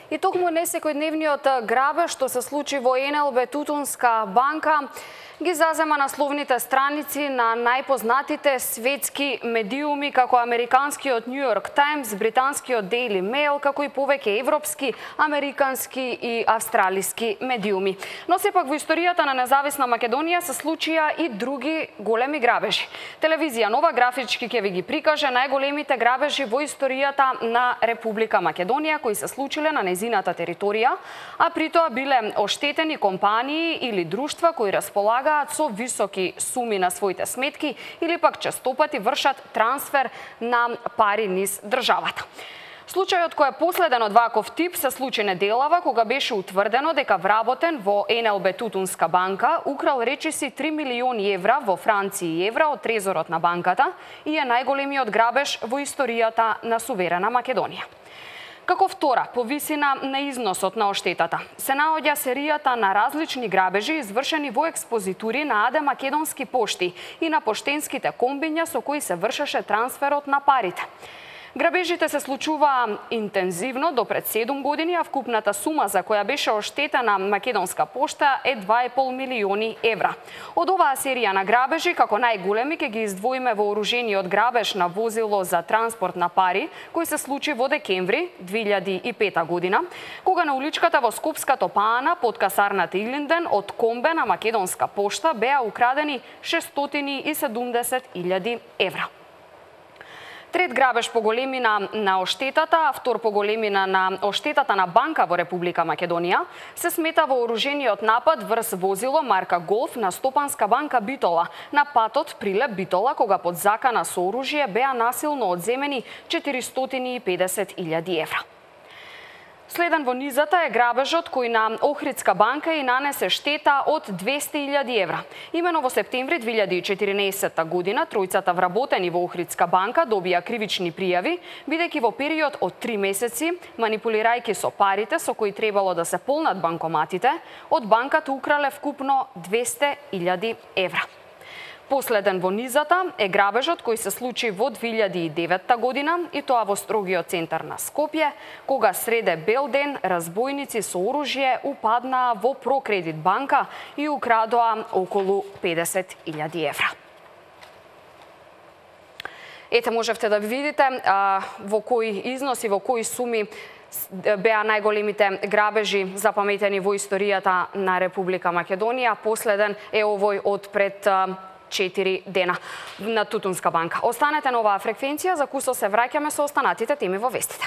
И токму несекојдневниот грабеж што се случи во НЛБ Тутунска банка ги зазема насловните страници на најпознатите светски медиуми како американскиот New York Times, британскиот Daily Mail, како и повеќе европски, американски и австралиски медиуми. Но сепак во историјата на независна Македонија се случија и други големи грабежи. Телевизија Нова графички ќе ви ги прикаже најголемите грабежи во историјата на Република Македонија кои се случиле на незината територија, а притоа биле оштетени компании или друштва кои располагаат со високи суми на своите сметки или пак честопати вршат трансфер на пари низ државата. Случајот кој е последен од ваков тип се случи неделава кога беше утврдено дека вработен во НЛБ Тутунска банка украл речиси 3 милиони евра во франци и евра од трезорот на банката и е најголемиот грабеж во историјата на суверена Македонија. Како втора по висина на износот на оштетата се наоѓа серијата на различни грабежи извршени во експозитури на АД Македонски пошти и на поштенските комбиња со кои се вршеше трансферот на парите. Грабежите се случуваа интензивно до пред 7 години, а вкупната сума за која беше оштетена Македонска пошта е 2,5 милиони евра. Од оваа серија на грабежи, како најголеми ќе ги издвоиме вооружениот грабеж на возило за транспорт на пари, кој се случи во декември 2005 година, кога на уличката во Скопската Паана под касарната Илинден од комбе на Македонска пошта беа украдени 670.000 евра. Трет грабеж по големина на оштетата, а втор по големина на оштетата на банка во Република Македонија, се смета вооружениот напад врз возило марка Голф на Стопанска банка Битола, на патот Прилеп Битола, кога под закана со оружје беа насилно одземени 450.000 евра. Следен во низата е грабежот кој на Охридска банка и нанесе штета од 200.000 евра. Имено во септември 2014 година тројцата вработени во Охридска банка добија кривични пријави, бидејќи во период од 3 месеци, манипулирајќи со парите со кои требало да се полнат банкоматите, од банката украле вкупно 200.000 евра. Последен во низата е грабежот кој се случи во 2009 година и тоа во строгиот центар на Скопје, кога среде бел ден разбойници со оружје упаднаа во Прокредит банка и украдоа околу 50.000 евра. Ете, можевте да видите во кои износи, во кои суми беа најголемите грабежи запаметени во историјата на Република Македонија. Последен е овој од пред 4 дена на Тутунска банка. Останете на оваа фреквенција, за кусо се враќаме со останатите теми во вестите.